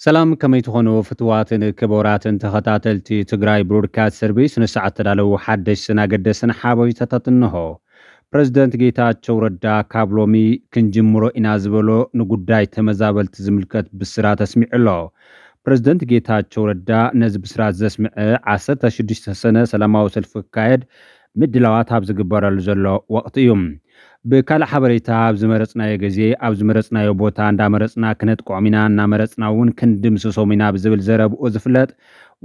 ሰላም፣ ከመይ ትኾኑ ፍትዋትን ክቡራትን ተኸታተልቲ ትግራይ ብሮድካስት ሰርቪስ? ንሰዓት ተዳለዉ ሓደሽትን ኣገደስትን ሓበሬታታት እንሆ። ፕረዚደንት ጌታቸው ረዳ ካብ ሎሚ ክንጅምሮ ኢና ዝበሎ ንጉዳይ ተመዛበልቲ ዝምልከት ብስራት ኣስሚዑ ኣሎ። ፕረዚደንት ጌታቸው ረዳ ነዚ ብስራት ዘስምዐ ዓሰርተ ሽዱሽተ ሰነ ሰላማዊ ሰልፊ ክካየድ ምድላዋት ኣብ ዝግበረሉ ዘሎ ወቕቲ እዩ። ብካልእ ሓበሬታ፣ ኣብ ዝመረጽናዮ ግዜ ኣብ ዝመረጽናዮ ቦታ እንዳመረጽና ክነጥቅዖም ኢና፣ እናመረጽና እውን ክንድምስሶም ኢና ብዝብል ዘረብኡ ዝፍለጥ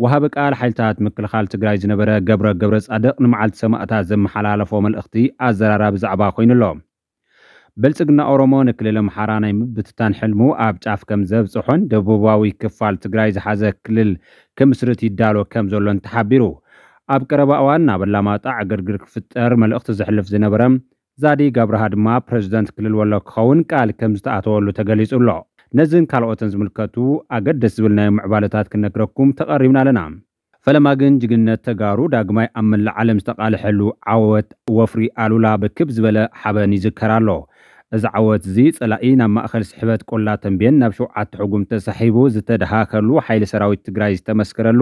ወሃቢ ቃል ሓይልታት ምክልኻል ትግራይ ዝነበረ ገብረ ገብረ ጻድቕ ንመዓልቲ ሰማእታት ዘመሓላለፎ መልእኽቲ ኣዘራራቢ ዛዕባ ኮይኑ ኣሎ። ብልጽግና ኦሮሞ ንክልል ኣምሓራ ናይ ምብትታን ሕልሙ ኣብ ጫፍ ከም ዘብጽሖን ደቡባዊ ክፋል ትግራይ ዝሓዘ ክልል ክምስርት ይዳሎ ከም ዘሎን ተሓቢሩ። ኣብ ቀረባ እዋን ናብ ኣላማጣ ዕግርግር ክፍጠር መልእኽቲ ዘሕልፍ ዝነበረ ዛዲግ ኣብርሃ ድማ ፕረዚደንት ክልል ወሎ ክኸውን ቃል ከም ዝተኣተወሉ ተገሊጹ ኣሎ። ነዝን ካልኦትን ዝምልከቱ ኣገደስ ዝብል ናይ ምዕባለታት ክነግረኩም ተቐሪብና ኣለና። ፈለማ ግን ጅግንነት ተጋሩ ዳግማይ ኣብ መላእ ዓለም ዝተቓልሐሉ ዓወት ወፍሪ ኣሉላ ብክብ ዝበለ ሓበን ይዝከር ኣሎ። እዚ ዓወት እዚ ጸላኢ ናብ ማእከል ስሕበት ቆላ ተንቤን ናብ ሸውዓተ ሕጉም ተሳሒቡ ዝተደሃኸሉ፣ ሓይሊ ሰራዊት ትግራይ ዝተመስከረሉ፣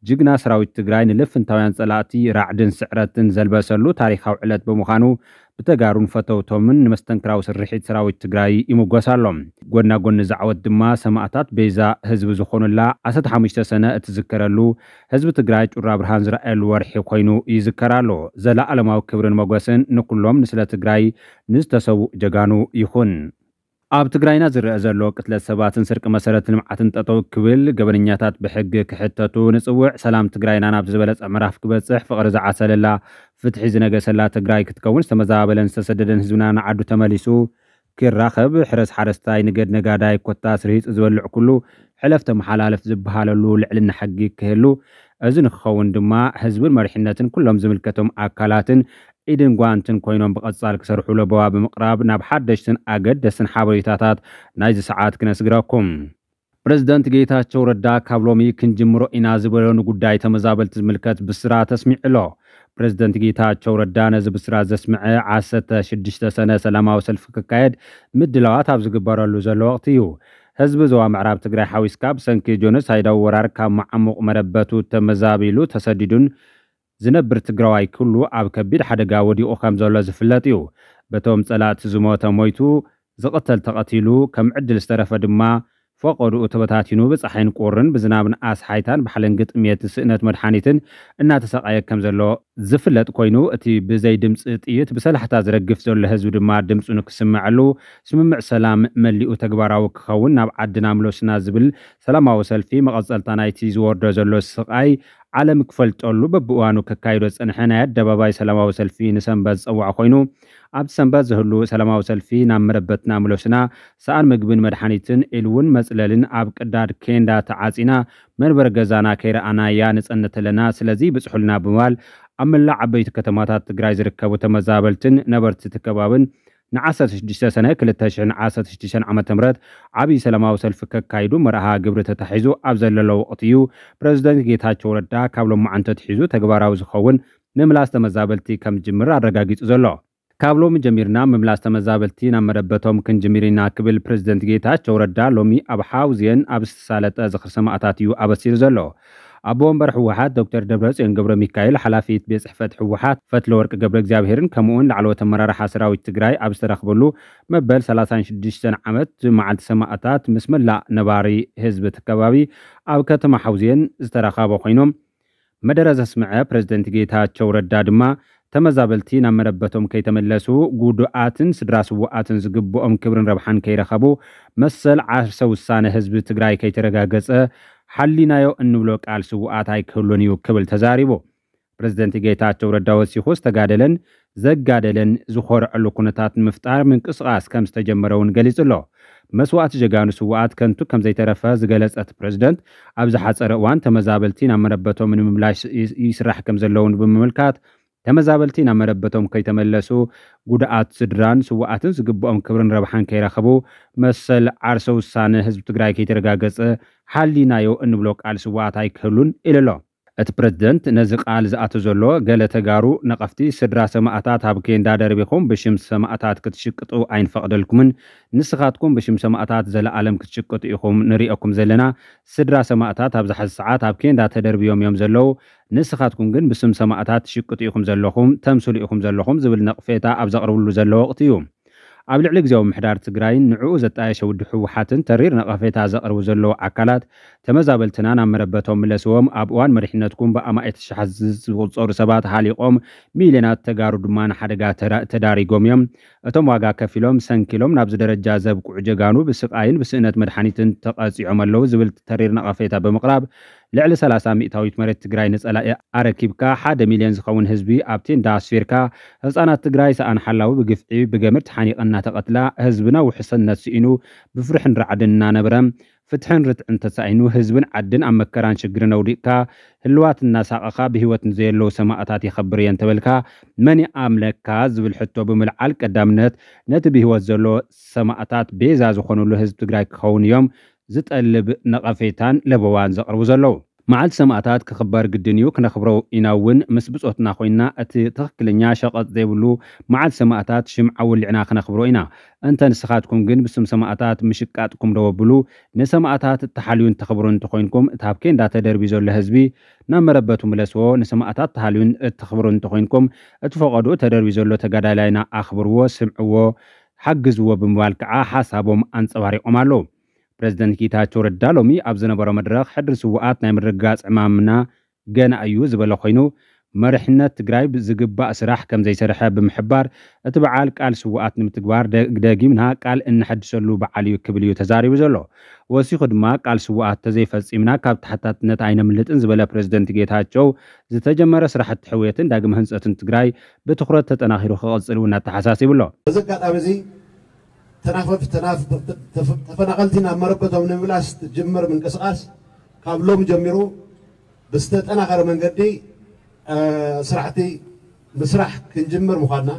ጅግና ሰራዊት ትግራይ ንልፍንታውያን ጸላእቲ ራዕድን ስዕረትን ዘልበሰሉ ታሪኻዊ ዕለት ብምዃኑ ብተጋሩን ፈተውቶምን ንመስተንክራዊ ስርሒት ሰራዊት ትግራይ ይምጎስ ኣሎ። ጎና ጎኒ እዚ ዓወት ድማ ሰማእታት ቤዛ ህዝቢ ዝኾኑላ ዓሰርተ ሓሙሽተ ሰነ እትዝከረሉ፣ ህዝቢ ትግራይ ጩራ ብርሃን ዝረኣየሉ ወርሒ ኮይኑ ይዝከር ኣሎ። ዘለኣለማዊ ክብርን ሞገስን ንኩሎም ንስለ ትግራይ ንዝተሰውኡ ጀጋኑ ይኹን። ኣብ ትግራይና ዝረአ ዘሎ ቅትለት ሰባትን ስርቂ መሰረተ ልምዓትን ጠጠው ክብል፣ ገበነኛታት ብሕጊ ክሕተቱ ንጽውዕ። ሰላም ትግራይና ናብ ዝበለጸ ምዕራፍ ክበጽሕ፣ ፍቕሪ ዝዓሰለላ፣ ፍትሒ ዝነገሰላ ትግራይ ክትከውን፣ ዝተመዛበለን ዝተሰደደን ህዝብና ንዓዱ ተመሊሱ ክራኸብ፣ ሕረስ ሓረስታይ፣ ንገድ ነጋዳይ፣ ኮታስ ርሂጹ ዝበልዕ ኩሉ፣ ሕለፍ ተመሓላለፍ ዝበሃለሉ ልዕልና ሕጊ ክህሉ፣ እዚ ንክኸውን ድማ ህዝብን መሪሕነትን ኩሎም ዝምልከቶም ኣካላትን ኢድን ጓንትን ኮይኖም ብቐጻል ክሰርሑ ለበዋ ብምቕራብ ናብ ሓደሽትን ኣገደስትን ሓበሬታታት ናይዚ ሰዓት ክነስግረኩም። ፕረዚደንት ጌታቸው ረዳ ካብ ሎሚ ክንጅምሮ ኢና ዝበሎ ንጉዳይ ተመዛበልቲ ዝምልከት ብስራት ኣስሚዑ ኣሎ። ፕረዚደንት ጌታቸው ረዳ ነዚ ብስራት ዘስምዐ ዓሰርተ ሽዱሽተ ሰነ ሰላማዊ ሰልፊ ክካየድ ምድላዋት ኣብ ዝግበረሉ ዘሎ ወቕቲ እዩ። ህዝቢ ዞባ ምዕራብ ትግራይ ሓዊስካ ብሰንኪ ጆኖሳይዳዊ ወራር ካብ መዓሙቕ መረበቱ ተመዛቢሉ ተሰዲዱን ዝነብር ትግራዋይ ኩሉ ኣብ ከቢድ ሓደጋ ወዲቑ ከም ዘሎ ዝፍለጥ እዩ። በቶም ጸላእቲ ዝሞተ ሞይቱ፣ ዝቕተል ተቐቲሉ፣ ከም ዕድል ዝተረፈ ድማ ፈቐድኡ ተበታቲኑ ብጸሓይን ቁርን ብዝናብን ኣስሓይታን ብሓለንጊ ጥሜት ስእነት መድሓኒትን እናተሰቓየ ከም ዘሎ ዝፍለጥ ኮይኑ፣ እቲ ብዘይ ድምፂ ጥይት ብሰላሕታ ዝረግፍ ዘሎ ህዝቢ ድማ ድምፁ ንክስመዐሉ ስምምዕ ሰላም መሊኡ ተግባራዊ ክኸውን ናብ ዓድና ምለሱና ዝብል ሰላማዊ ሰልፊ መቐጸልታ ናይቲ ዝወርዶ ዘሎ ስቓይ ዓለም ክፈልጠሉ በብእዋኑ ከካይዶ ዝጸንሐ ናይ ኣደባባይ ሰላማዊ ሰልፊ ንሰንበት ዝጸውዖ ኮይኑ፣ ኣብቲ ሰንበት ዝህሉ ሰላማዊ ሰልፊ ናብ መረበትና ምለሱና፣ ሰኣን ምግብን መድሓኒትን ኢሉ እውን መጽለልን ኣብ ቅዳድ ኬንዳ ተዓጺና መንበሪ ገዛና ከይረኣናያ ንጸንት ኣለና፣ ስለዚ ብጽሑልና ብምባል ኣብ መላእ ዓበይቲ ከተማታት ትግራይ ዝርከቡ ተመዛበልትን ነበርቲ እቲ ከባብን ንዓሰርተ ሽዱሽተ ሰነ ክልተ ሽሕን ዓሰርተ ሽዱሽተን ዓመተ ምህረት ዓብዪ ሰላማዊ ሰልፊ ከካይዱ መርሃ ግብሪ ተታሒዙ ኣብ ዘለሎ ወቕቲ እዩ ፕረዚደንት ጌታቸው ረዳ ካብ ሎማዓንቲ ኣትሒዙ ተግባራዊ ዝኸውን ምምላስ ተመዛበልቲ ከም ዝጅምር ኣረጋጊጹ ዘሎ። ካብ ሎሚ ጀሚርና ምምላስ ተመዛበልቲ ናብ መረበቶም ክንጅምር ኢና ክብል ፕረዚደንት ጌታቸው ረዳ ሎሚ ኣብ ሓውዜን ኣብ ዝተሳለጠ ዝኽሪ ሰማእታት እዩ ኣበሲሩ ዘሎ። ኣቦ ወንበር ህወሓት ዶክተር ደብረጽዮን ገብረ ሚካኤል፣ ሓላፊት ቤት ጽሕፈት ህወሓት ፈትለወርቅ ገብረ እግዚኣብሄርን ከምኡውን ላዕለዎት ኣመራርሓ ሰራዊት ትግራይ ኣብ ዝተረኽበሉ መበል ሰላሳን ሽዱሽተን ዓመት መዓልቲ ሰማእታት ምስ መላእ ነባሪ ህዝቢ እቲ ከባቢ ኣብ ከተማ ሓውዜን ዝተረኸበ ኮይኖም፣ መደረ ዘስምዐ ፕረዚደንት ጌታቸው ረዳ ድማ ተመዛበልቲ ናብ መረበቶም ከይተመለሱ፣ ጉዱኣትን ስድራ ስውኣትን ዝግብኦም ክብርን ረብሓን ከይረኸቡ፣ መሰል ዓርሰ ውሳነ ህዝቢ ትግራይ ከይተረጋገጸ፣ ሓሊናዮ እንብሎ ቃል ስውኣት ኣይክህሉን እዩ ክብል ተዛሪቡ። ፕረዚደንት ጌታቸው ረዳ ወሲኹ ዝተጋደለን ዘጋደለን ዝኾርዐሉ ኩነታት ንምፍጣር ምንቅስቓስ ከም ዝተጀመረ እውን ገሊጹ ኣሎ። መስዋእቲ ጀጋኑ ስውኣት ከንቱ ከም ዘይተረፈ ዝገለጸ እቲ ፕረዚደንት፣ ኣብ ዝሓጸረ እዋን ተመዛበልቲ ናብ መረበቶም ንምምላሽ ይ-፣ ይስራሕ ከም ዘለውን ብምምልካት፣ ተመዛበልቲ ናብ መረበቶም ከይተመለሱ ጉድኣት ስድራን ስውኣትን ዝግብኦም ክብርን ረብሓን ከይረኸቡ፣ መሰል ዓርሰ ውሳነ ህዝቢ ትግራይ ከይተረጋገጸ፣ ሓሊናዮ እንብሎ ቃል ስውኣት ኣይክህሉን ኢሉ ኣሎ። እቲ ፕረዚደንት ነዚ ቃል ዝኣቱ ዘሎ፣ ገለ ተጋሩ ነቐፍቲ ስድራ ሰማእታት ኣብ ኬንዳ ደርቢኹም ብሽም ሰማእታት ክትሽቅጡ ኣይንፈቕደልኩምን፣ ንስኻትኩም ብሽም ሰማእታት ዘለኣለም ክትሽቅጡ ኢኹም ንሪኦኩም ዘለና። ስድራ ሰማእታት ኣብዚ ሓዚ ሰዓት ኣብ ኬንዳ ተደርብዮም እዮም ዘለዉ። ንስኻትኩም ግን ብስም ሰማእታት ትሽቅጡ ኢኹም ዘለኹም፣ ተምስሉ ኢኹም ዘለኹም ዝብል ነቕፌታ ኣብ ዘቕርብሉ ዘሎ ወቕቲ እዩ። ኣብ ልዕሊ ግዜያዊ ምሕዳር ትግራይን ንዕኡ ዘጣየሸ ውድብ ህወሓትን ተሪር ነቐፌታ ዘቕርቡ ዘለዉ ኣካላት፣ ተመዛበልትና ናብ መረበቶም ምለስዎም፣ ኣብ እዋን መሪሕነትኩም ብኣማኢት ሽሓት ዝቑጸሩ ሰባት ሃሊቖም፣ ሚልዮናት ተጋሩ ድማ ንሓደጋ ተራ-፣ ተዳሪጎም እዮም። እቶም ዋጋ ከፊሎም ሰንኪሎም ናብዚ ደረጃ ዘብቅዑ ጀጋኑ ብስቓይን ብስእነት መድሓኒትን ተቐጺዖም ኣለዉ ዝብል ተሪር ነቐፌታ ብምቕራብ፣ ልዕሊ ሰላሳ ሚእታዊት መሬት ትግራይ ንጸላኢ ኣረኪብካ፣ ሓደ ሚልዮን ዝኸውን ህዝቢ ኣብ ቴንዳ ኣስፊርካ፣ ህጻናት ትግራይ ሰኣን ሓላዊ ብግፍዒ ብገመድ ተሓኒቐ እናተቐትላ፣ ህዝብና ውሕስነት ስኢኑ ብፍርሕን ራዕድን እናነበረ፣ ፍትሕን ርትዕን ተሳኢኑ፣ ህዝብን ዓድን ኣብ መከራን ሽግርን ኣውዲቕካ፣ ህልዋት እናሳቐኻ ብህይወት ንዘየለዉ ሰማእታት የኸብር እየ እንተበልካ፣ መን ይኣምነካ ዝብል ሕቶ ብምልዓል፣ ቀዳምነት ነቲ ብህይወት ዘሎ ሰማእታት ቤዛ ዝኾኑሉ ህዝቢ ትግራይ ክኸውን እዮም ዝጠልብ ነቐፌታን ለበዋን ዘቕርቡ ዘለዉ። መዓልቲ ሰማእታት ክኽበር ግድን እዩ፣ ክነኽብሮ ኢና እውን። ምስ ብጾትና ኮይንና እቲ ትኽክለኛ ሸቐጥ ዘይብሉ መዓልቲ ሰማእታት ሽምዓ ወሊዕና ክነኽብሮ ኢና። እንተ ንስኻትኩም ግን ብስም ሰማእታት ምሽቃጥኩም ደው ኣብሉ። ንሰማእታት እተሓልዩን ተኽብሩን እንተኾይንኩም፣ እቲ ኣብ ኬንዳ ተደርብዩ ዘሎ ህዝቢ ናብ መረበቱ ምለስዎ። ንሰማእታት ተሃልዩን እተኽብሩን እንተኾይንኩም፣ እቲ ፈቐድኡ ተደርብዩ ዘሎ ተጋዳላይና ኣኽብርዎ፣ ስምዕዎ፣ ሓግዝዎ ብምባል ከዓ ሓሳቦም ኣንጸባሪቖም ኣለዉ። ፕረዚደንት ጌታቸው ረዳ ሎሚ ኣብ ዝነበሮ መድረኽ፣ ሕድሪ ስውኣት ናይ ምርግጋጽ ዕማምና ገና እዩ ዝበለ ኮይኑ፣ መሪሕነት ትግራይ ብዝግባእ ስራሕ ከም ዘይሰርሐ ብምሕባር፣ እቲ በዓል ቃል ስውኣት ንምትግባር ደ-፣ ደጊምና ቃል እንሐድሰሉ በዓል እዩ ክብል እዩ ተዛሪቡ ዘሎ። ወሲኹ ድማ፣ ቃል ስውኣት ተዘይፈጺምና ካብ ተሓታትነት ኣይነምልጥን ዝበለ ፕረዚደንት ጌታቸው፣ ዝተጀመረ ስራሕቲ ሕውየትን ዳግመ ህንጸትን ትግራይ ብትኹረት ተጠናኺሩ ክቕጽል እውን ኣተሓሳሲቡ ኣሎ። በዚ ኣጋጣሚ እዚ፣ ተናፈፍ-፣ ተናፍ-፣ ተፈ-፣ ተፈናቐልቲ ናብ መረበቶም ንምምላስ ትጅምር ምንቅስቓስ ካብ ሎም ጀሚሩ ብዝተጠናኸረ መንገዲ፣ እ፣ ስራሕቲ ምስራሕ ክንጅምር ምዃንና፣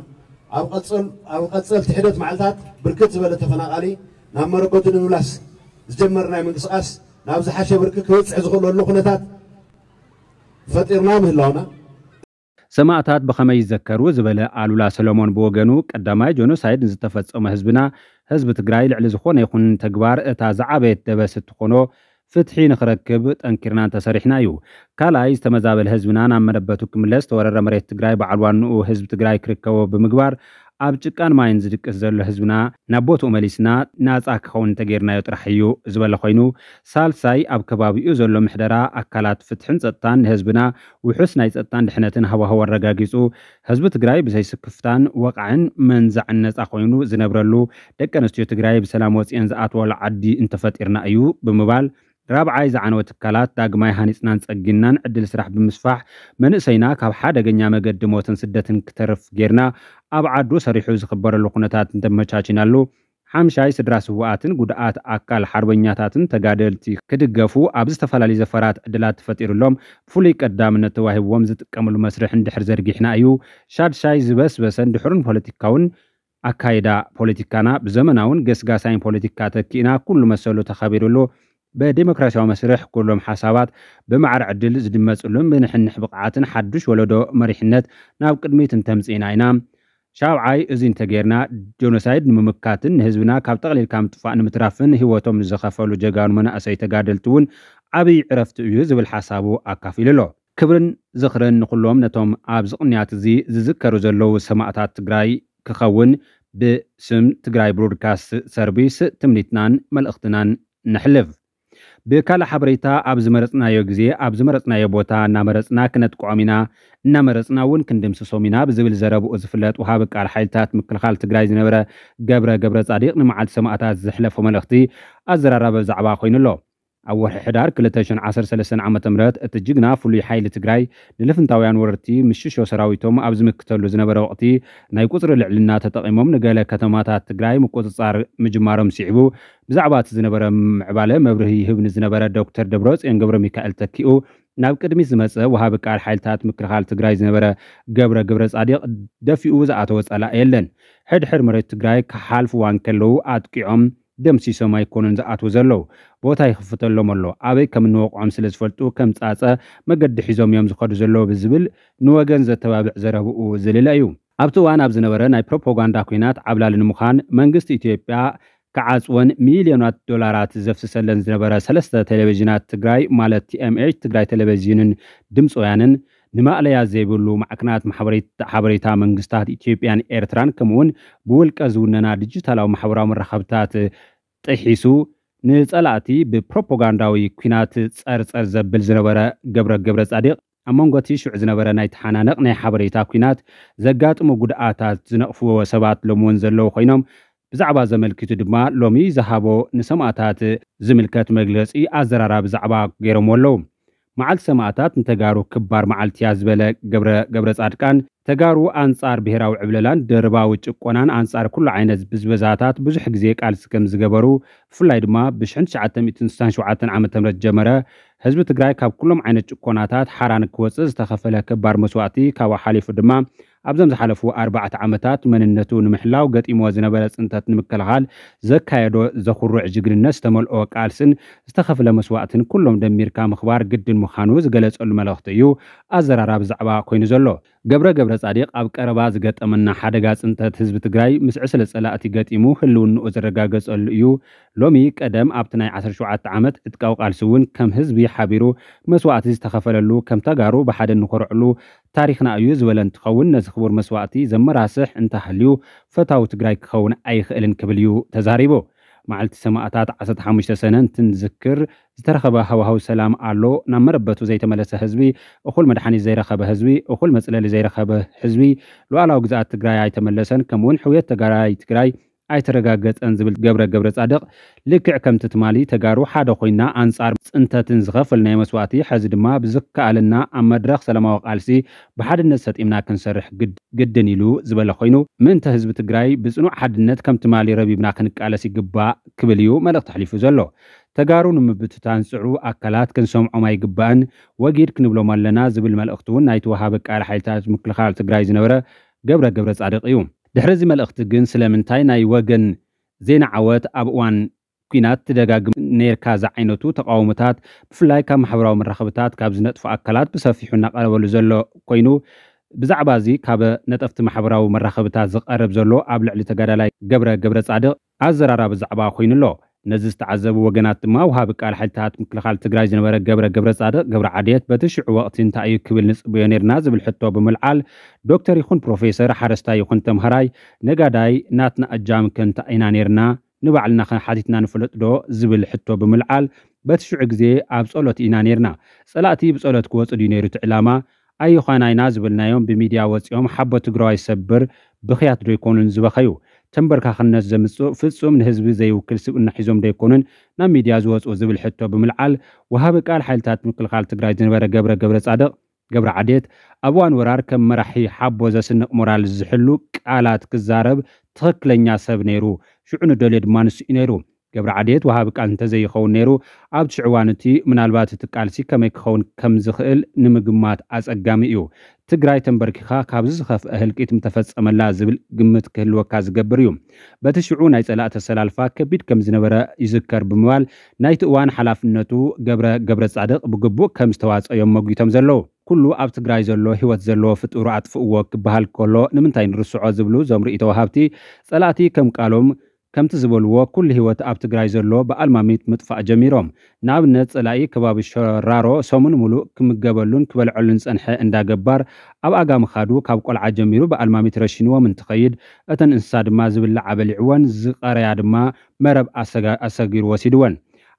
ኣብ ቀጸል-፣ ኣብ ቀጸልቲ ሒደት መዓልታት ብርክት ዝበለ ተፈናቓሊ ናብ መረበቱ ንምምላስ ዝጀመርናዮ ምንቅስቓስ ናብ ዝሓሸ ብርኪ ክበጽሕ ዝኽእለሉ ኩነታት ፈጢርና ምህላውና፣ ሰማእታት ብኸመይ ይዘከሩ ዝበለ ኣሉላ ሰሎሞን ብወገኑ፣ ቀዳማይ ጆኖሳይድ ንዝተፈጸመ ህዝብና፣ ህዝቢ ትግራይ ልዕሊ ዝኾነ ይኹን ተግባር እታ ዝዓበየት ደበስ እትኾኖ ፍትሒ ንኽረክብ ጠንኪርና እንተሰሪሕና እዩ። ካልኣይ፣ ዝተመዛበለ ህዝብና ናብ መረበቱ ክምለስ፣ ዝተወረረ መሬት ትግራይ በዓል ዋንኡ ህዝቢ ትግራይ ክርከቦ ብምግባር፣ ኣብ ጭቃን ማይን ዝድቅስ ዘሎ ህዝብና ናብ ቦትኡ መሊስና ናጻ ክኸውን እንተጌርናዮ ጥራሕ እዩ ዝበለ ኮይኑ፣ ሳልሳይ፣ ኣብ ከባቢኡ ዘሎ ምሕደራ ኣካላት ፍትሕን ጸጥታን ንህዝብና ውሑስ ናይ ጸጥታን ድሕነትን ሃዋህው ኣረጋጊጹ፣ ህዝቢ ትግራይ ብዘይስክፍታን ወቕዕን መንዛዕን ነጻ ኮይኑ ዝነብረሉ፣ ደቂ ኣንስትዮ ትግራይ ብሰላም ወጺኤን ዝኣትዋሉ ዓዲ እንተፈጢርና እዩ ብምባል፣ ራብዓይ፣ ዝዓነወ ትካላት ዳግማይ ሃኒጽናን ጸጊንናን ዕድል ስራሕ ብምስፋሕ፣ መንእሰይና ካብ ሓደገኛ መገዲ ሞትን ስደትን ክተርፍ ጌርና ኣብ ዓዱ ሰሪሑ ዝኽበረሉ ኩነታት እንተመቻቺናሉ፣ ሓምሻይ፣ ስድራ ስውኣትን ጉድኣት ኣካል ሓርበኛታትን ተጋደልቲ ክድገፉ ኣብ ዝተፈላለዩ ዘፈራት ዕድላት ተፈጢሩሎም፣ ፍሉይ ቀዳምነት ተዋሂብዎም ዝጥቀምሉ መስርሕ እንድሕር ዘርጊሕና እዩ። ሻድሻይ፣ ዝበስበሰን ድሑርን ፖለቲካውን ኣካይዳ ፖለቲካና ብዘመናውን ገስጋሳይን ፖለቲካ ተኪእና፣ ኩሉ መሰሉ ተኸቢሩሉ፣ ብዴሞክራሲያዊ መስርሕ ኩሎም ሓሳባት ብማዕረ ዕድል ዝድመፅሉን ብንሕንሕ ብቕዓትን ሓዱሽ ወለዶ መሪሕነት ናብ ቅድሚት እንተምፅእና ኢና። ሻብዓይ፣ እዚ እንተጌርና፣ ጆኖሳይድ ንምምካትን ንህዝብና ካብ ጠቕሊልካ ምጥፋእ ንምትራፍን ህይወቶም ንዝኸፈሉ ጀጋኑ መናእሰይ ተጋደልቲ እውን ዓብዪ ዕረፍቲ እዩ ዝብል ሓሳቡ ኣካፊሉ ኣሎ። ክብርን ዝኽርን ንኹሎም ነቶም ኣብዚ ቅንያት እዚ ዝዝከሩ ዘለዉ ሰማእታት ትግራይ ክኸውን ብስም ትግራይ ብሮድካስት ሰርቪስ ትምኒትናን መልእኽትናን ነሕልፍ። ብካልእ ሓበሬታ፣ ኣብ ዝመረጽናዮ ግዜ፣ ኣብ ዝመረጽናዮ ቦታ እናመረጽና ክነጥቅዖም ኢና፣ እናመረጽና እውን ክንድምስሶም ኢና ብዝብል ዘረብኡ ዝፍለጥ ወሃቢ ቃል ሓይልታት ምክልኻል ትግራይ ዝነበረ ገብረ ገብረ ጻዲቕ ንመዓልቲ ሰማእታት ዘሕለፎ መልእኽቲ ኣዘራራቢ ዛዕባ ኮይኑ ኣሎ። ኣብ ወርሒ ሕዳር ክልተ ሽሕን ዓሰርተ ሰለስተን ዓመተ ምህረት እቲ ጅግና ፍሉይ ሓይሊ ትግራይ ንልፍንታውያን ወረርቲ ምስ ሽሾ ሰራዊቶም ኣብ ዝምክተሉ ዝነበረ ወቕቲ ናይ ቁጽሪ ልዕልና ተጠቒሞም ንገለ ከተማታት ትግራይ ምቁጽጻር ምጅማሮም ስዒቡ ብዛዕባ እቲ ዝነበረ ምዕባለ መብርሂ ይህብ ንዝነበረ ዶክተር ደብረጽዮን ገብረ ሚካኤል ተኪኡ ናብ ቅድሚት ዝመጸ ወሃቢ ቃል ሓይልታት ምክልኻል ትግራይ ዝነበረ ገብረ ገብረ ጻዲቕ ደፊኡ ዝኣተወ ጸላኢ የለን። ሕድሕድ መሬት ትግራይ ክሓልፍዋ እንከለዉ ኣጥቂዖም ደምሲሶም ኣይኮኑን ዝኣትዉ ዘለዉ። ቦታ ይኽፍተሎም ኣሎ። ኣበይ ከም እንወቕዖም ስለ ዝፈልጡ ከም ጻጸ መገዲ ሒዞም እዮም ዝኸዱ ዘለዉ ብዝብል ንወገን ዘተባብዕ ዘረብኡ ዝልለ እዩ። ኣብቲ እዋን ኣብ ዝነበረ ናይ ፕሮፓጋንዳ ኲናት ዓብላሊ ንምዃን መንግስቲ ኢትዮጵያ ክዓጽወን ሚልዮናት ዶላራት ዘፍስሰለን ዝነበረ ሰለስተ ቴሌቪዥናት ትግራይ ማለት ቲኤምኤች፣ ትግራይ ቴሌቪዥንን ድምፂ ወያንን ንማእለያ ዘይብሉ ማዕከናት ማሕበሬት-፣ ሓበሬታ መንግስታት ኢትዮጵያን ኤርትራን ከምኡውን ብውልቀ ዝውነና ዲጂታላዊ ማሕበራዊ መራኸብታት ጥሒሱ ንጸላእቲ ብፕሮፓጋንዳዊ ኲናት ጸርጸር ዘብል ዝነበረ ገብረ ገብረ ጻዲቕ ኣብ መንጎ እቲ ሽዑ ዝነበረ ናይ ተሓናነቕ ናይ ሓበሬታ ኲናት ዘጋጥሙ ጉድኣታት ዝነቕፍዎ ሰባት ሎሚ እውን ዘለዉ ኮይኖም ብዛዕባ ዘመልክቱ ድማ ሎሚ ዝሃቦ ንሰማእታት ዝምልከት መግለጺ ኣዘራራቢ ዛዕባ ገይሮምዎ ኣለዉ። መዓልቲ ሰማእታት ንተጋሩ ክባር መዓልቲ እያ ዝበለ ገብረ ገብረ ጻድቃን ተጋሩ ኣንጻር ብሔራዊ ዕብለላን ደርባዊ ጭቆናን ኣንጻር ኩሉ ዓይነት ብዝበዛታት ብዙሕ ግዜ ቃልሲ ከም ዝገበሩ ብፍላይ ድማ ብ ሽሕን ትሽዓተ ሚእትን ስሳን ሸውዓተን ዓመተ ምህረት ጀመረ ህዝቢ ትግራይ ካብ ኩሎም ዓይነት ጭቆናታት ሓራን ክወፅእ ዝተኸፈለ ክባር መስዋእቲ ካብኡ ሓሊፉ ድማ ኣብዞም ዝሓለፉ ኣርባዕተ ዓመታት መንነቱ ንምሕላው ገጢምዎ ዝነበረ ፅንተት ንምክልኻል ዘካየዶ ዘኹርዕ ጅግንነት ዝተመልኦ ቃልስን ዝተኸፍለ መስዋእትን ኩሎም ደሚርካ ምኽባር ግድን ምዃኑ ዝገለጸሉ መልእኽቲ እዩ ኣዘራራቢ ዛዕባ ኮይኑ ዘሎ። ገብረ ገብረ ጻዲቕ ኣብ ቀረባ ዝገጠመና ሓደጋ ፅንተት ህዝቢ ትግራይ ምስ ዕስለ ጸላእቲ ገጢሙ ህልውንኡ ዝረጋገጸሉ እዩ። ሎሚ ቀደም ኣብቲ ናይ ዓሰርተ ሸውዓተ ዓመት ዕጥቃዊ ቃልሲ እውን ከም ህዝቢ ሓቢሩ መስዋእቲ ዝተኸፈለሉ ከም ተጋሩ ብሓደ እንኾርዕሉ ታሪኽና እዩ ዝበለ እንትኸውን ነዚ ክቡር መስዋእቲ ዘመራስሕ እንተሃልዩ ፈታዊ ትግራይ ክኸውን ኣይኽእልን ክብል እዩ ተዛሪቡ። መዓልቲ ሰማእታት ዓሰርተ ሓሙሽተ ሰነ እንትንዝክር ዝተረኸበ ሃዋህው ሰላም ኣሎ። ናብ መረበቱ ዘይተመለሰ ህዝቢ፣ እኹል መድሓኒት ዘይረኸበ ህዝቢ፣ እኹል መፅለሊ ዘይረኸበ ህዝቢ፣ ሉዓላዊ ግዝኣት ትግራይ ኣይተመለሰን፣ ከምኡውን ሕውየት ተጋራይ ትግራይ ኣይተረጋገፀን ዝብል ገብረ ገብረ ጻድቕ ልክዕ ከምቲ ትማሊ ተጋሩ ሓደ ኮይና ኣንጻር ፅንተትን ዝኸፈልናዮ መስዋእቲ ሕዚ ድማ ብዝከኣለና ኣብ መድረኽ ሰላማዊ ቃልሲ ብሓድነት ሰጢምና ክንሰርሕ ግድ-፣ ግድን ኢሉ ዝበለ ኮይኑ ምእንተ ህዝቢ ትግራይ ብፅኑዕ ሓድነት ከም ትማሊ ረቢብና ክንቃለስ ይግባእ ክብል እዩ መልእኽቲ ኣሕሊፉ ዘሎ። ተጋሩ ንምብትታን ዝፅዕሩ ኣካላት ክንሰምዖም ኣይግባእን፣ ወጊድ ክንብሎም ኣለና ዝብል መልእኽቲ እውን ናይቲ ወሃቢ ቃል ሓይልታት ምክልኻል ትግራይ ዝነበረ ገብረ ገብረ ጻድቕ እዩ። ድሕሪ እዚ መልእኽቲ ግን ስለምንታይ ናይ ወገን ዜና ዓወት ኣብ እዋን ኲናት ትደጋግም ነይርካ ዝዓይነቱ ተቃውሞታት ብፍላይ ካብ ማሕበራዊ መራኸብታት ካብ ዝነጥፉ ኣካላት ብሰፊሑ እናቐረበሉ ዘሎ ኮይኑ ብዛዕባ እዚ ካብ ነጠፍቲ ማሕበራዊ መራኸብታት ዝቐርብ ዘሎ ኣብ ልዕሊ ተጋዳላይ ገብረ ገብረ ጻድቕ ኣዘራራቢ ዛዕባ ኮይኑ ኣሎ። ነዚ ዝተዓዘቡ ወገናት ድማ ወሃቢ ቃል ሓይልታት ምክልኻል ትግራይ ዝነበረ ገብረ ገብረ ጻድቕ ገብረ ዓድየት በቲ ሽዑ ወቕቲ እንታይ እዩ ክብል ንጽበዮ ነይርና ዝብል ሕቶ ብምልዓል ዶክተር ይኹን ፕሮፌሰር ሓረስታይ ይኹን ተምሃራይ ነጋዳይ ናትና እጃም ከ እንታይ ኢና ነይርና ንባዕልና ከ ሓቲትና ንፈልጥ ዶ ዝብል ሕቶ ብምልዓል በቲ ሽዑ ግዜ ኣብ ጸሎት ኢና ነይርና። ጸላእቲ ብጸሎት ክወጹ ድዩ ነይሩ እቲ ዕላማ? ኣይኾናይና ዝበልናዮም ብሚድያ ወፂኦም ሓቦ ትግራዋይ ሰብር ብኽያት ዶ ኣይኮኑን ዝበኸዩ? ተንበርካኽነት ዘምፅእ ፍፁም ንህዝቢ ዘይውክል ስብእና ሒዞም ዶ ኣይኮኑን ናብ ሚድያ ዝወፁ ዝብል ሕቶ ብምልዓል ወሃቢ ቃል ሓይልታት ምክልኻል ትግራይ ዝነበረ ገብረ ገብረ ፃድቕ ገብረ ዓዴት ኣብ እዋን ወራር ከም መራሒ ሓቦ ዘስንቕ ሞራል ዝሕሉ ቃላት ክዛረብ ትኽክለኛ ሰብ ነይሩ። ሽዑ ንደልዮ ድማ ንሱ እዩ ነይሩ። ገብረ ዓዴት ወሃቢ ቃል እንተዘይኸውን ነይሩ ኣብቲ ሽዑ እዋን እቲ ምናልባት እቲ ቃልሲ ከመይ ክኸውን ከም ዝኽእል ንምግማት ኣጸጋሚ እዩ። ትግራይ ተንበርኪኻ ካብዚ ዝኸፍአ ህልቂት ምተፈጸመላ ዝብል ግምት ክህልወካ ዝገብር እዩ። በቲ ሽዑ ናይ ጸላእቲ ኣሰላልፋ ከቢድ ከም ዝነበረ ይዝከር ብምባል ናይቲ እዋን ሓላፍነቱ ገብረ ገብረ ጻድቕ ብግቡእ ከም ዝተዋጸኦም መጒቶም ዘለዉ። ኩሉ ኣብ ትግራይ ዘሎ ህይወት ዘለዎ ፍጡር ኣጥፍእዎ ክበሃል ከሎ ንምንታይ ንርስዖ ዝብሉ እዞም ርእይቶ ወሃብቲ ጸላእቲ ከም ቃሎም ከምቲ ዝበልዎ ኩሉ ህይወት ኣብ ትግራይ ዘሎ ብኣልማሚት ምጥፋእ ጀሚሮም። ንኣብነት ጸላኢ ከባቢ ሸራሮ ሰሙን ሙሉእ ክምገበሉን ክበልዐሉን ዝጸንሐ እንዳ ገባር ኣብ ኣጋ ምኻዱ ካብ ቆልዓ ጀሚሩ ብኣልማሚት ረሺንዎም እንትኸይድ እተን እንስሳ ድማ ዝብላዓ በሊዕወን ዝቐረያ ድማ መረብ ኣሰጋ-፣ ኣሰጊሩ ወሲድወን።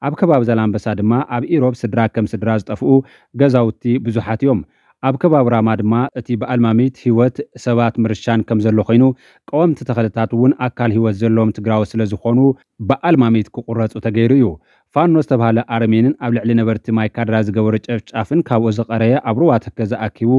ኣብ ከባቢ ዛላምበሳ ድማ ኣብ ኢሮብ ስድራ ከም ስድራ ዝጠፍኡ ገዛውቲ ብዙሓት እዮም። ኣብ ከባቢ ራማ ድማ እቲ ብኣልማሚት ህይወት ሰባት ምርሻን ከም ዘሎ ኮይኑ ቀወምቲ ተኸልታት እውን ኣካል ህይወት ዘለዎም ትግራዊ ስለ ዝኾኑ ብኣልማሚት ክቁረፁ ተገይሩ እዩ። ፋኖ ዝተባህለ ኣረሜንን ኣብ ልዕሊ ነበርቲ ማይካድራ ዝገበሮ ጨፍጫፍን ካብኡ ዝቐረየ ኣብ ሩባ ተከዘ ኣኪቡ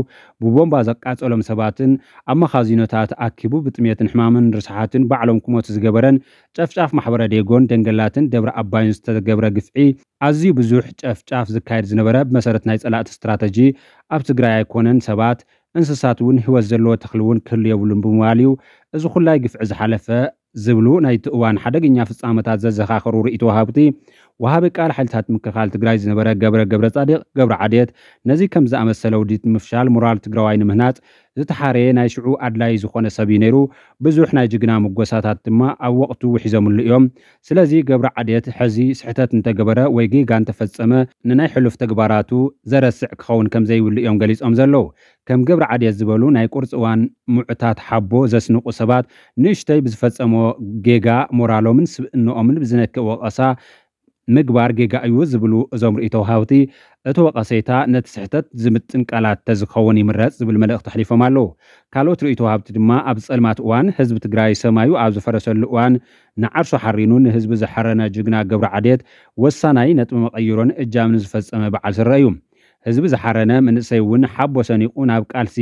ብቦምባ ዘቃጸሎም ሰባትን ኣብ መኻዚኖታት ኣኪቡ ብጥሜትን ሕማምን ርስሓትን ባዕሎም ክሞቱ ዝገበረን ጨፍጫፍ ማሕበረ ዴጎን ደንገላትን ደብረ ኣባይን ዝተገብረ ግፍዒ ኣዝዩ ብዙሕ ጨፍጫፍ ዝካየድ ዝነበረ ብመሰረት ናይ ጸላእቲ ስትራተጂ ኣብ ትግራይ ኣይኮነን ሰባት እንስሳት እውን ህይወት ዘለዎ ተኽሊ እውን ክህሉ የብሉን ብምባል እዩ እዚ ኩላይ ግፍዒ ዝሓለፈ ዝብሉ ናይቲ እዋን ሓደገኛ ፍጻመታት ዘዘኻኸሩ ርእይቶ ወሃብቲ፣ ወሃቢ ቃል ሓይልታት ምክልኻል ትግራይ ዝነበረ ገብረ ገብረ ጻዲቕ ገብረ ዓድየት፣ ነዚ ከም ዝኣመሰለ ውዲት ምፍሻል ሞራል ትግራዋይ ንምህናጽ ዝተሓረየ ናይ ሽዑ ኣድላይ ዝኾነ ሰብ እዩ ነይሩ። ብዙሕ ናይ ጅግና ምጎሳታት ድማ ኣብ ወቕቱ ውሒዞምሉ እዮም። ስለዚ ገብረ ዓድየት ሕዚ ስሕተት እንተገበረ ወይ ጌጋ እንተፈጸመ፣ ንናይ ሕሉፍ ተግባራቱ ዘረስዕ ክኸውን ከም ዘይብሉ እዮም ገሊጾም ዘለዉ። ከም ገብረ ዓድየት ዝበሉ ናይ ቁርፂ እዋን ምዑታት ሓቦ ዘስንቑ ሰባት ንእሽተይ ብዝፈጸሞ ጌጋ ሞራሎምን ስብእንኦምን ብዝነክእ ወቐሳ ምግባር ጌጋ እዩ ዝብሉ እዞም ርእይቶ ወሃብቲ፣ እቲ ወቐሰይታ ነቲ ስሕተት ዝምጥን ቃላት ተዝኸውን ይምረጽ ዝብል መልእኽቲ ኣሕሊፎም ኣለዉ። ካልኦት ርእይቶ ወሃብቲ ድማ ኣብ ጸልማት እዋን ህዝቢ ትግራይ ሰማዩ ኣብ ዝፈረሰሉ እዋን ንዓርሱ ሓሪኑ ንህዝቢ ዝሓረነ ጅግና ገብረ ዓድየት ወሳናይ ነጥቢ መቐይሮን እጃምን ዝፈጸመ በዓል ስረ እዩ። ህዝቢ ዝሓረነ መንእሰይ እውን ሓቦ ሰኒቑ ናብ ቃልሲ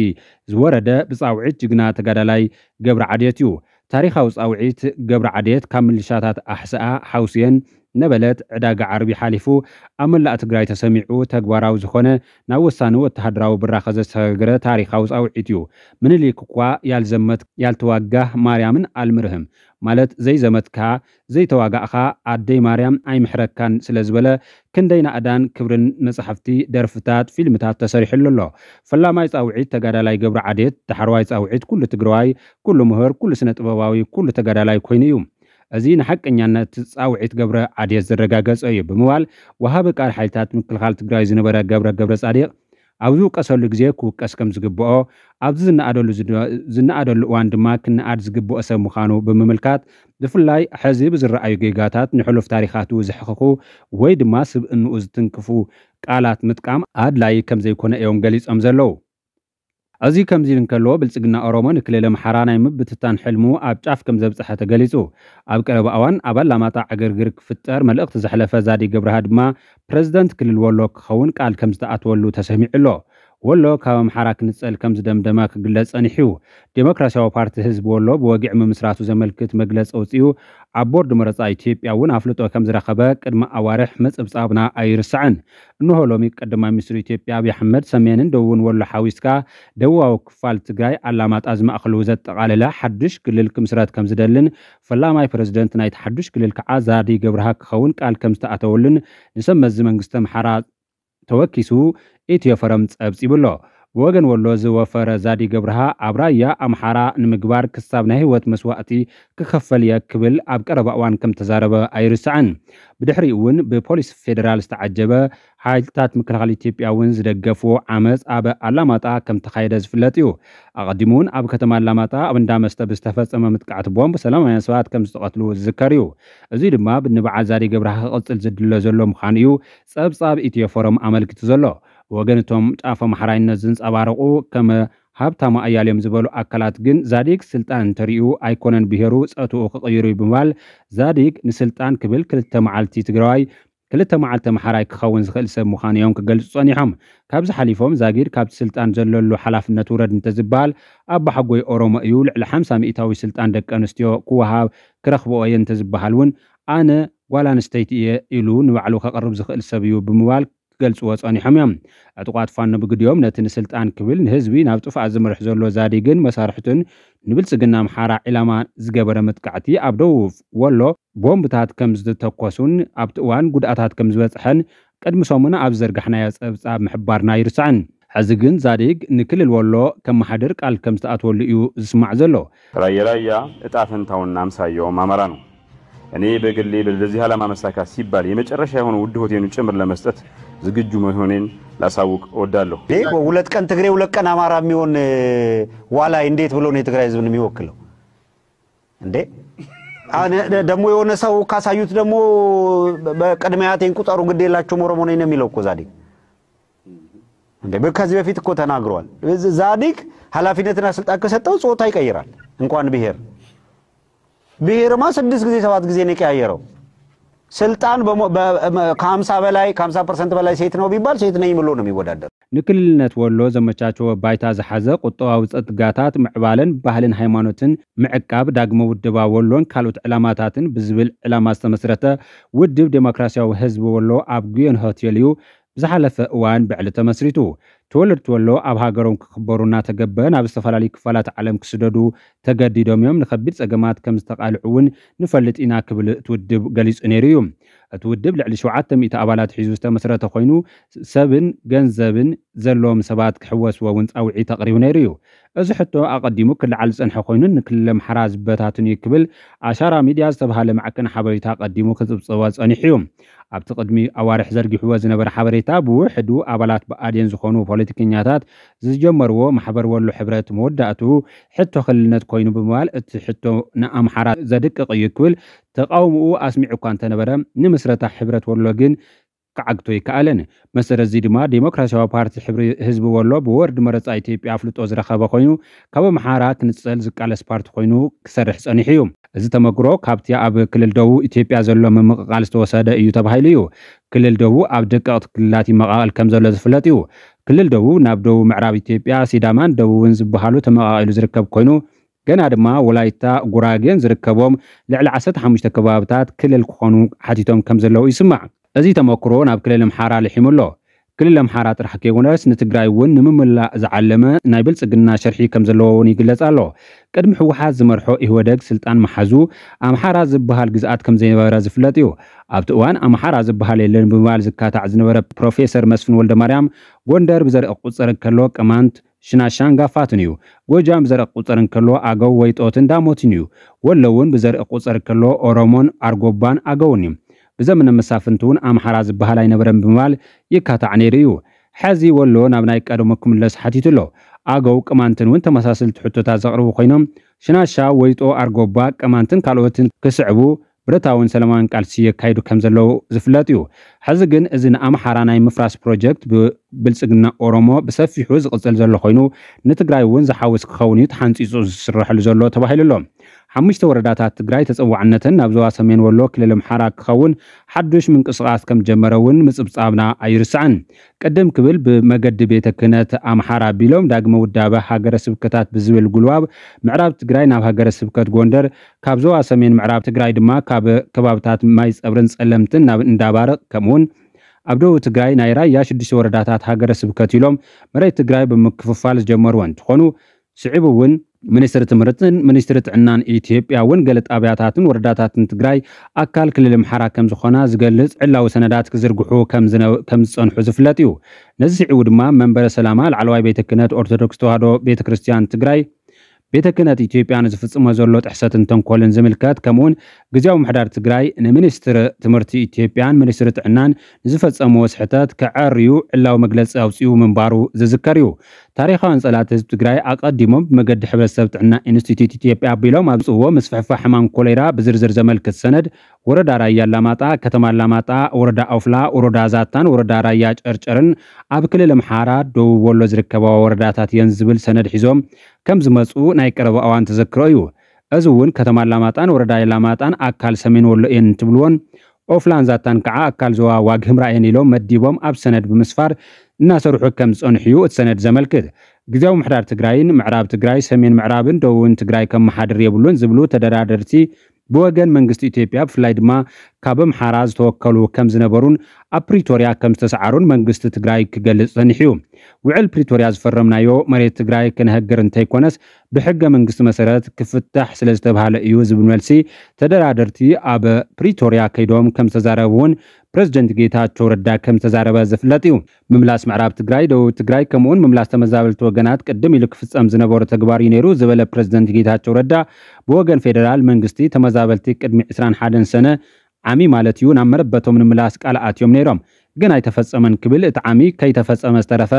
ዝወረደ ብጻውዒት ጅግና ተጋዳላይ ገብረ ዓድየት እዩ። ታሪኻዊ ጻውዒት ገብረ ዓድየት ካብ ምልሻታት ኣሕስኣ ሓውስየን ነበለት ዕዳጋ ዓርቢ ሓሊፉ ኣብ መላእ ትግራይ ተሰሚዑ ተግባራዊ ዝኾነ ናብ ወሳኒ ወተሃደራዊ ብራኸ ዘሰጋገረ ታሪኻዊ ጻውዒት እዩ። ምኒልክ እኳ ያልዘመት ያልተዋጋህ ማርያምን ኣልምርህም ማለት ዘይዘመትካ ዘይተዋጋእኻ ኣደይ ማርያም ኣይምሕረካን ስለ ዝበለ ክንደይ ናእዳን ክብርን መጻሕፍቲ፣ ደርፍታት፣ ፊልምታት ተሰሪሕሉ ኣሎ። ፈላማይ ጻውዒት ተጋዳላይ ገብረ ዓዴት፣ ዳሕረዋይ ጻውዒት ኩሉ ትግራዋይ፣ ኩሉ ምሁር፣ ኩሉ ስነ ጥበባዊ፣ ኩሉ ተጋዳላይ ኮይኑ እዩ። እዚ ንሓቀኛነት ጻውዒት ገብረ ዓዴት ዘረጋገጸ እዩ ብምባል ወሃቢ ቃል ሓይልታት ምክልኻል ትግራይ ዝነበረ ገብረ ገብረ ጻዲቕ ኣብ ዝውቀሰሉ ግዜ ክውቀስ ከም ዝግብኦ፣ ኣብዚ ዝነኣደሉ ዝድ- ዝነኣደሉ እዋን ድማ ክነኣድ ዝግብኦ ሰብ ምዃኑ ብምምልካት፣ ብፍላይ ሕዚ ብዝረኣዩ ጌጋታት ንሕሉፍ ታሪኻቱ ዘሕኽኹ ወይ ድማ ስብእንኡ ዝትንክፉ ቃላት ምጥቃም ኣድላዪ ከም ዘይኮነ እዮም ገሊጾም ዘለዉ። እዚ ከምዚ ኢሉ እንከሎ፣ ብልጽግና ኦሮሞ ንክልል ኣምሓራ ናይ ምብትታን ሕልሙ ኣብ ጫፍ ከም ዘብጽሐ ተገሊጹ። ኣብ ቀረባ እዋን ኣብ ኣላማጣ ዕግርግር ክፍጠር መልእኽቲ ዘሕለፈ ዛዲ ገብረሃ ድማ ፕረዚደንት ክልል ወሎ ክኸውን ቃል ከም ዝተኣተወሉ ተሰሚዑ ኣሎ። ወሎ ካብ ኣምሓራ ክንጸል ከም ዝደምደመ ክግለጽ ጸኒሑ እዩ። ዴሞክራሲያዊ ፓርቲ ህዝቢ ወሎ ብወግዒ ምምስራቱ ዘመልክት መግለጺ ኣውጺኡ፣ ኣብ ቦርድ መረጻ ኢትዮጵያ እውን ኣፍልጦ ከም ዝረኸበ ቅድሚ ኣዋርሕ ምጽብጻብና ኣይርሳዕን። እንሆ ሎሚ ቀዳማይ ሚኒስትር ኢትዮጵያ ኣብይ ኣሕመድ ሰሜንን ደቡብን ወሎ ሓዊስካ ደቡባዊ ክፋል ትግራይ ኣላማጣ ዝማእኸሉ ዘጠቓለለ ሓዱሽ ክልል ክምስረት ከም ዝደልን ፈላማይ ፕረዚደንት ናይቲ ሓዱሽ ክልል ከዓ ዛዲ ገብረሃ ክኸውን ቃል ከም ዝተኣተወሉን ንሰብ መዚ መንግስቲ ኣምሓራ ተወኪሱ ኢትዮ ፎረም ጸብጺቡ ኣሎ። ብወገን ወሎ ዝወፈረ ዛዲ ገብረሃ ኣብ ራያ ኣምሓራ ንምግባር ክሳብ ናይ ህይወት መስዋእቲ ክኸፈል እየ ክብል ኣብ ቀረባ እዋን ከም ተዛረበ ኣይርሳዕን። ብድሕሪኡ እውን ብፖሊስ ፌዴራል ዝተዓጀበ ሓይልታት ምክልኻል ኢትዮጵያ እውን ዝደገፍዎ ዓመፅ ኣብ ኣላማጣ ከም ተኻየደ ዝፍለጥ እዩ። ኣቐዲሙ እውን ኣብ ከተማ ኣላማጣ ኣብ እንዳ መስተ ብዝተፈጸመ ምጥቃዕቲ ቦምብ ሰላማውያን ሰባት ከም ዝተቐትሉ ዝዝከር እዩ። እዚ ድማ ንበዓል ዛዲ ገብረሃ ክቕጽል ዝድለ ዘሎ ምዃኑ እዩ ጸብጻብ ኢትዮ ፎረም ኣመልኪቱ ዘሎ። ብወገን እቶም ጫፍ ኣምሓራይነት ዝንጸባረቑ ከም ሃብታሙ ኣያሌም ዝበሉ ኣካላት ግን ዛዲግ ስልጣን እንተሪኡ ኣይኮነን ብሄሩ ጸትኡ ክቕይሩ እዩ ብምባል ዛዲግ ንስልጣን ክብል ክልተ መዓልቲ ትግራዋይ ክልተ መዓልቲ ኣምሓራይ ክኸውን ዝኽእል ሰብ ምዃኑ እዮም ክገልጹ ጸኒሖም። ካብዚ ሓሊፎም ዛጊድ ካብቲ ስልጣን ዘለሉ ሓላፍነት ውረድ እንተዝበሃል ኣባሓጎይ ኦሮሞ እዩ፣ ልዕሊ ሓምሳ ሚእታዊ ስልጣን ደቂ ኣንስትዮ ክወሃብ ክረኽብኦ እየ እንተዝበሃል እውን ኣነ ጓል ኣንስተይቲ እየ ኢሉ ንባዕሉ ከቕርብ ዝኽእል ሰብ እዩ ብምባል ክገልጽዎ ጸኒሖም እዮም። ዕጡቓት ፋኖ ብግዲኦም ነቲ ንስልጣን ክብል ንህዝቢ ናብ ጥፍኣት ዝመርሕ ዘሎ ዛዲግን መሳርሕቱን ንብልጽግና ኣምሓራ ዒላማ ዝገበረ መጥቃዕቲ ኣብ ደቡብ ወሎ ቦምብታት ከም ዝተተኮሱን ኣብቲ እዋን ጉድኣታት ከም ዝበጽሐን ቅድሚ ሰሙን ኣብ ዘርጋሕናዮ ጸብጻብ ምሕባርና ኣይርሳዕን። ሕዚ ግን ዛዲግ ንክልል ወሎ ከመሓድር ቃል ከም ዝተኣትወሉ እዩ ዝስማዕ ዘሎ። ራየ ራያ እጣ ፈንታውና አምሳያውም አማራ ነው። እኔ በግሌ ለዚህ ዓላማ መሳካት ሲባል የመጨረሻ የሆነ ውድ ህይወቴን ጭምር ለመስጠት ዝግጁ መሆኔን ላሳውቅ እወዳለሁ። ይሄ እኮ ሁለት ቀን ትግሬ ሁለት ቀን አማራ የሚሆን ዋላይ እንዴት ብሎ ነው የትግራይ ህዝብን የሚወክለው እንዴ? አሁን ደግሞ የሆነ ሰው ካሳዩት ደግሞ በቅድሚያ ያቴን ቁጠሩ ግድ የላችሁም ኦሮሞ ነኝ ነው የሚለው እኮ ዛዲግ። እንዴ በ- ከዚህ በፊት እኮ ተናግሯል። ዛዲግ ኃላፊነትና ስልጣን ከሰጠው ጾታ ይቀይራል። እንኳን ብሔር ብሔርማ ስድስት ጊዜ ሰባት ጊዜ ነው የቀያየረው። ስልጣን በሞ- በ- በ- ከ50 በላይ ከ50 ፐርሰንት በላይ ሴት ነው ቢባል ሴት ነኝ ብሎ ነው የሚወዳደር። ንክልልነት ወሎ ዘመቻቸወ ባይታ ዝሓዘ ቁጠባዊ ጸጥጋታት ምዕባለን ባህልን ሃይማኖትን ምዕቃብ ዳግመ ውደባ ወሎን ካልኦት ዕላማታትን ብዝብል ዕላማ ዝተመስረተ ውድብ ዴሞክራሲያዊ ህዝቢ ወሎ ኣብ ጉዮን ሆቴል እዩ ብዝሓለፈ እዋን ብዕሊ ተመስሪቱ። ተወለድቲ ወሎ ኣብ ሃገሮም ክኽበሩ እናተገበ ናብ ዝተፈላለዩ ክፋላት ዓለም ክስደዱ ተገዲዶም እዮም። ንኸቢድ ጸገማት ከም ዝተቓልዑ እውን ንፈልጥ ኢና ክብል እቲ ውድብ ገሊጹ ነይሩ እዩ። እቲ ውድብ ልዕሊ ሸውዓተ ሚእቲ ኣባላት ሒዙ ዝተመስረተ ኮይኑ፣ ሰብን ገንዘብን ዘለዎም ሰባት ክሕወስዎ እውን ጻውዒት ኣቕሪቡ ነይሩ እዩ። እዚ ሕቶ ኣቐዲሙ ክለዓል ዝጸንሐ ኮይኑ፣ ንክልል ኣምሓራ ዝበታትን እዩ ክብል ኣሻራ ሚድያ ዝተባህለ ማዕከን ሓበሬታ ኣቐዲሙ ክጽብጽቦ ጸኒሑ እዩ። ኣብቲ ቅድሚ ኣዋርሕ ዘርጊሕዎ ዝነበረ ሓበሬታ፣ ብውሕዱ ኣባላት ብኣዴን ዝኾኑ ፖለቲከኛታት ዝጀመርዎ ማሕበር ወሎ ሕብረት መወዳእትኡ ሕቶ ክልልነት ኮይኑ ብምባል፣ እቲ ሕቶ ንኣምሓራ ዘድቅቕ እዩ ክብል ተቃውምኡ ኣስሚዑ እኳ እንተነበረ፣ ንምስረታ ሕብረት ወሎ ግን ክዓግቶ ኣይከኣለን። መሰረት እዚ ድማ ዴሞክራሲያዊ ፓርቲ ሕብሪ ህዝቢ ወሎ ብወርዲ መረጻ ኢትዮጵያ ኣፍልጦ ዝረኸበ ኮይኑ፣ ካብ ኣምሓራ ክንጸል ዝቃለስ ፓርቲ ኮይኑ ክሰርሕ ጸኒሑ እዩ። እዚ ተመክሮ ካብቲ ኣብ ክልል ደቡብ ኢትዮጵያ ዘሎ ምምቕቓል ዝተወሰደ እዩ ተባሂሉ እዩ። ክልል ደቡብ ኣብ ደቀቕቲ ክልላት ይመቓቐል ከም ዘሎ ዝፍለጥ እዩ። ክልል ደቡብ ናብ ደቡብ ምዕራብ ኢትዮጵያ፣ ሲዳማን ደቡብን ዝበሃሉ ተመቓቒሉ ዝርከብ ኮይኑ፣ ገና ድማ ወላይታ፣ ጉራጌን ዝርከቦም ልዕሊ ዓሰርተ ሓሙሽተ ከባብታት ክልል ክኾኑ ሓቲቶም ከም ዘለዉ ይስማዕ። እዚ ተመክሮ ናብ ክልል ኣምሓራ ልሒሙ ኣሎ። ክልል ኣምሓራ ጥራሕ ከይኮነስ ንትግራይ እውን ንምምላእ ዝዓለመ ናይ ብልጽግና ሽርሒ ከም ዘለዎ እውን ይግለጽ ኣሎ። ቅድሚ ህወሓት ዝመርሖ ኢህወደግ ስልጣን መሓዙ ኣምሓራ ዝበሃል ግዝኣት ከም ዘይነበረ ዝፍለጥ እዩ። ኣብቲ እዋን ኣምሓራ ዝበሃል የለን ብምባል ዝካታዕ ዝነበረ ፕሮፌሰር መስፍን ወልደማርያም፣ ጎንደር ብዘርኢ ክቑጸር እንከሎ ቅማንት፣ ሽናሻን ጋፋትን እዩ። ጎጃም ብዘርኢ ክቑጸር እንከሎ ኣገው፣ ወይጦትን ዳሞትን እዩ። ወሎ እውን ብዘርኢ ክቑጸር እንከሎ ኦሮሞን ኣርጎባን ኣገውን እዩ። ብዘመነ መሳፍንቲ እውን ኣምሓራ ዝበሃል ኣይነበረን ብምባል ይካታዕ ነይሩ እዩ። ሕዚ ወሎ ናብ ናይ ቀደሙ ክምለስ ሓቲቱ ኣሎ። ኣገው፣ ቅማንትን እውን ተመሳሰልቲ ሕቶታት ዘቕርቡ ኮይኖም፣ ሽናሻ፣ ወይጦ፣ ኣርጎባ፣ ቅማንትን ካልኦትን ክስዕቡ ብረታውን ሰላማውን ቃልሲ የካይዱ ከም ዘለዉ ዝፍለጥ እዩ። ሕዚ ግን እዚ ንኣምሓራ ናይ ምፍራስ ፕሮጀክት ብብልጽግና ኦሮሞ ብሰፊሑ ዝቕጽል ዘሎ ኮይኑ፣ ንትግራይ እውን ዝሓውስ ክኸውን እዩ ተሓንጺጹ ዝስረሐሉ ዘሎ ተባሂሉ ኣሎ። ሓሙሽተ ወረዳታት ትግራይ ተጸዋዕነተን ናብ ዞባ ሰሜን ወሎ ክልል ኣምሓራ ክኸውን ሓዱሽ ምንቅስቓስ ከም ጀመረ እውን ምጽብጻብና ኣይርሳዕን። ቅድም ክብል ብመገዲ ቤተ ክህነት ኣምሓራ ኣቢሎም ዳግመ ውዳበ ሃገረ ስብከታት ብዝብል ጉልባብ ምዕራብ ትግራይ ናብ ሃገረ ስብከት ጎንደር፣ ካብ ዞባ ሰሜን ምዕራብ ትግራይ ድማ ካብ ከባብታት ማይ ጸብርን ጸለምትን ናብ እንዳባርቕ፣ ከምኡውን ኣብ ደቡብ ትግራይ ናይ ራያ ሽዱሽተ ወረዳታት ሃገረ ስብከት ኢሎም መሬት ትግራይ ብምክፍፋል ዝጀመርዎ እንትኾኑ፣ ስዒቡ እውን ሚኒስትሪ ትምህርትን ሚኒስትሪ ጥዕናን ኢትዮጵያ እውን ገለ ጣብያታትን ወረዳታትን ትግራይ ኣካል ክልል ኣምሓራ ከም ዝኾና ዝገልጽ ዕላዊ ሰነዳት ክዝርግሑ ከም ዝነ-፣ ከም ዝጸንሑ ዝፍለጥ እዩ። ነዚ ስዒቡ ድማ መንበረ ሰላማ ላዕለዋይ ቤተ ክህነት ኦርቶዶክስ ተዋህዶ ቤተ ክርስቲያን ትግራይ፣ ቤተ ክህነት ኢትዮጵያ ንዝፍጽሞ ዘሎ ጥሕሰትን ተንኮልን ዝምልከት፣ ከምኡውን ግዝያዊ ምሕዳር ትግራይ ንሚኒስትሪ ትምህርቲ ኢትዮጵያን ሚኒስትሪ ጥዕናን ንዝፈጸምዎ ስሕተት ከዐርዩ ዕላዊ መግለጺ ኣውጺኡ ምንባሩ ዝዝከር እዩ። ታሪኻውያን ጸላእቲ ህዝቢ ትግራይ ኣቐዲሞም ብመገዲ ሕብረተሰብ ጥዕና ኢንስቲትዩት ኢትዮጵያ ኣቢሎም ኣብ ዝጽዎ ምስፍሕፋሕ ሕማም ኮሌራ ብዝርዝር ዘመልክት ሰነድ፣ ወረዳ ራያ ኣላማጣ፣ ከተማ ኣላማጣ፣ ወረዳ ኦፍላ፣ ወረዳ ዛታን ወረዳ ራያ ጨርጨርን ኣብ ክልል ኣምሓራ ደቡብ ወሎ ዝርከባ ወረዳታት እየን ዝብል ሰነድ ሒዞም ከም ዝመጹ ናይ ቀረባ እዋን ተዘክሮ እዩ። እዚ እውን ከተማ ኣላማጣን ወረዳ ኣላማጣን ኣካል ሰሜን ወሎ እየን እንትብልዎን፣ ኦፍላን ዛታን ከዓ ኣካል ዞባ ዋግ ህምራ እየን ኢሎም መዲቦም ኣብ ሰነድ ብምስፋር እናሰርሑ ከም ዝጸንሑ እዩ እቲ ሰነድ ዘመልክት። ግዝያዊ ምሕዳር ትግራይን ምዕራብ ትግራይ፣ ሰሜን ምዕራብን ደቡብን ትግራይ ከመሓድር የብሉን ዝብሉ ተደራደርቲ፣ ብወገን መንግስቲ ኢትዮጵያ ብፍላይ ድማ ካብ ኣምሓራ ዝተወከሉ ከም ዝነበሩን ኣብ ፕሪቶርያ ከም ዝተሰዓሩን መንግስቲ ትግራይ ክገልጽ ጸኒሑ እዩ። ውዕል ፕሪቶርያ ዝፈረምናዮ መሬት ትግራይ ክነህግር እንተይኮነስ ብሕገ መንግስቲ መሰረት ክፍታሕ ስለ ዝተባህለ እዩ ዝብል መልሲ ተደራደርቲ ኣብ ፕሪቶርያ ከይዶም ከም ዝተዛረቡ እውን ፕረዚደንት ጌታቸው ረዳ ከም ዝተዛረበ ዝፍለጥ እዩ። ምምላስ ምዕራብ ትግራይ፣ ደቡብ ትግራይ ከምኡውን ምምላስ ተመዛበልቲ ወገናት ቅድም ኢሉ ክፍጸም ዝነበሮ ተግባር እዩ ነይሩ ዝበለ ፕረዚደንት ጌታቸው ረዳ፣ ብወገን ፌደራል መንግስቲ ተመዛበልቲ ቅድሚ ዕስራን ሓደን ሰነ ዓሚ ማለት እዩ ናብ መረበቶም ንምምላስ ቃል ኣትዮም ነይሮም፣ ግን ኣይተፈጸመን ክብል እቲ ዓሚ ከይተፈጸመ ዝተረፈ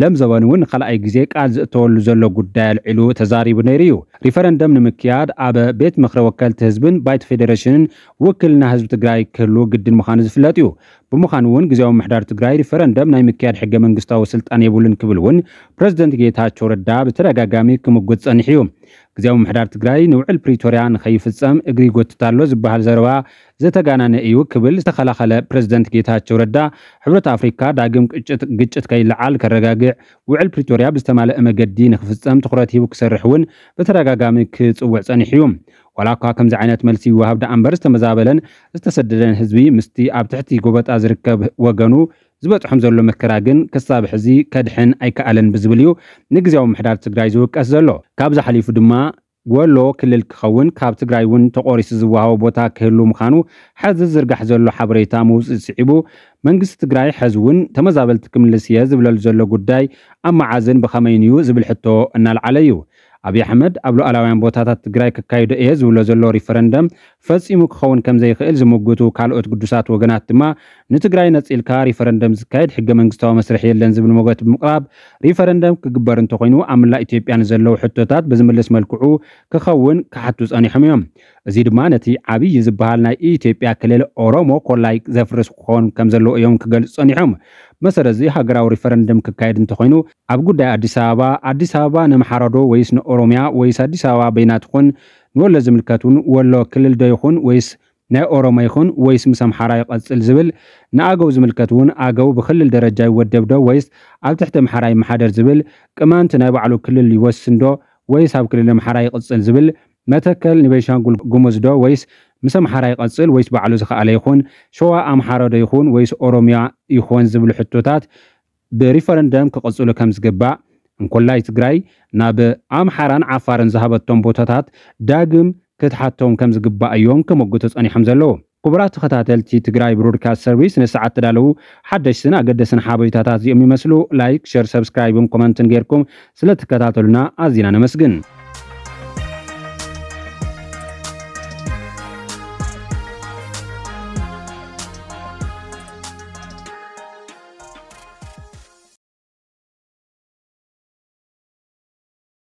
ለምዘበን እውን ንኻልኣይ ግዜ ቃል ዝእተወሉ ዘሎ ጉዳይ ኣልዒሉ ተዛሪቡ ነይሩ እዩ። ሪፈረንደም ንምክያድ ኣብ ቤት ምኽሪ ወከልቲ ህዝብን ባይቶ ፌዴሬሽንን ውክልና ህዝቢ ትግራይ ክህሉ ግድን ምዃኑ ዝፍለጥ እዩ። ብምዃኑ እውን ግዝያዊ ምሕዳር ትግራይ ሪፈረንደም ናይ ምክያድ ሕገ መንግስታዊ ስልጣን የብሉን ክብል እውን ፕረዚደንት ጌታቸው ረዳ ብተደጋጋሚ ክምጉት ጸኒሑ እዩ። ግዝያዊ ምሕዳር ትግራይ ንውዕል ፕሪቶርያ ንኸይፍጸም እግሪ ይጎትት ኣሎ ዝበሃል ዘረባ ዝተጋነነ እዩ ክብል ዝተኸላኸለ ፕረዚደንት ጌታቸው ረዳ፣ ሕብረት ኣፍሪካ ዳግም ግጭት፣ ግጭት ከይለዓል ከረጋግዕ፣ ውዕል ፕሪቶርያ ብዝተማለአ መገዲ ንክፍጸም ትኹረት ሂቡ ክሰርሕ እውን ብተደጋጋሚ ክጽውዕ ጸኒሑ እዩ። ዋላ እኳ ከምዚ ዓይነት መልሲ ይወሃብ ደኣ እምበር፣ ዝተመዛበለን ዝተሰደደን ህዝቢ ምስቲ ኣብ ትሕቲ ጎበጣ ዝርከብ ወገኑ ዝበፅሖም ዘሎ መከራ ግን ክሳብ ሕዚ ከድሕን ኣይከኣለን ብዝብል እዩ ንግዜያዊ ምሕዳር ትግራይ ዝውቀስ ዘሎ። ካብዚ ሓሊፉ ድማ ወሎ ክልል ክኸውን፣ ካብ ትግራይ እውን ተቆሪሱ ዝወሃቦ ቦታ ክህሉ ምዃኑ ሕዚ ዝርጋሕ ዘሎ ሓበሬታ ምውፅእ ስዒቡ፣ መንግስቲ ትግራይ ሕዚ እውን ተመዛበልቲ ክምልስ እየ ዝብለሉ ዘሎ ጉዳይ ኣብ መዓዝን ብኸመይን እዩ ዝብል ሕቶ እናልዓለ እዩ። ኣብይ ኣሕመድ ኣብ ሉዓላውያን ቦታታት ትግራይ ክካይዶ እየ ዝብሎ ዘሎ ሪፈረንደም ፈጺሙ ክኸውን ከም ዘይኽእል ዝምጉቱ ካልኦት ግዱሳት ወገናት ድማ፣ ንትግራይ ነጺልካ ሪፈረንደም ዝካየድ ሕገ መንግስታዊ መስርሕ የለን ዝብል ሞገት ብምቕራብ፣ ሪፈረንደም ክግበር እንተኾይኑ ኣብ መላእ ኢትዮጵያ ንዘለዉ ሕቶታት ብዝምልስ መልክዑ ክኸውን ክሓቱ ጸኒሖም እዮም። እዚ ድማ ነቲ ዓብዪ ዝበሃል ናይ ኢትዮጵያ ክልል ኦሮሞ ኮላይ ዘፍርስ ክኾን ከም ዘለዎ እዮም ክገልጹ ጸኒሖም። መሰረት እዚ ሃገራዊ ሪፈረንደም ክካየድ እንተኾይኑ ኣብ ጉዳይ ኣዲስ ኣበባ፣ ኣዲስ ኣበባ ነምሓራ ዶ ወይስ ንኦሮሚያ ወይስ ኣዲስ ኣበባ በይና ትኾን፣ ንወሎ ዝምልከት እውን ወሎ ክልል ዶ ይኹን ወይስ ናይ ኦሮሞ ይኹን ወይስ ምስ ኣምሓራ ይቐጽል ዝብል፣ ንኣገው ዝምልከት እውን ኣገው ብክልል ደረጃ ይወደብ ዶ ወይስ ኣብ ትሕቲ ኣምሓራ ይመሓደር ዝብል፣ ቅማንት ናይ ባዕሉ ክልል ይወስን ዶ ወይስ ኣብ ክልል ኣምሓራ ይቕጽል ዝብል፣ መተከል ንቤንሻንጉል ጉሙዝ ዶ ወይስ ምስ ኣምሓራ ይቐጽል ወይስ ባዕሉ ዝኸኣለ ይኹን፣ ሸዋ ኣምሓራ ዶ ይኹን ወይስ ኦሮሚያ ይኾን ዝብሉ ሕቶታት ብሪፈረንደም ክቕጽሉ ከም ዝግባእ፣ እንኮላይ ትግራይ ናብ ኣምሓራን ዓፋርን ዝሃበቶም ቦታታት ዳግም ክትሓቶም ከም ዝግባእ እዮም ክመጉቱ ጸኒሖም ዘለዉ። ክቡራት ተኸታተልቲ ትግራይ ብሮድካስት ሰርቪስ፣ ንሰዓት ተዳለዉ ሓደሽትን ኣገደስን ሓበሬታታት እዚኦም ይመስሉ። ላይክ፣ ሸር፣ ሰብስክራይብን ኮመንትን ጌርኩም ስለትከታተሉና ኣዚና ነመስግን።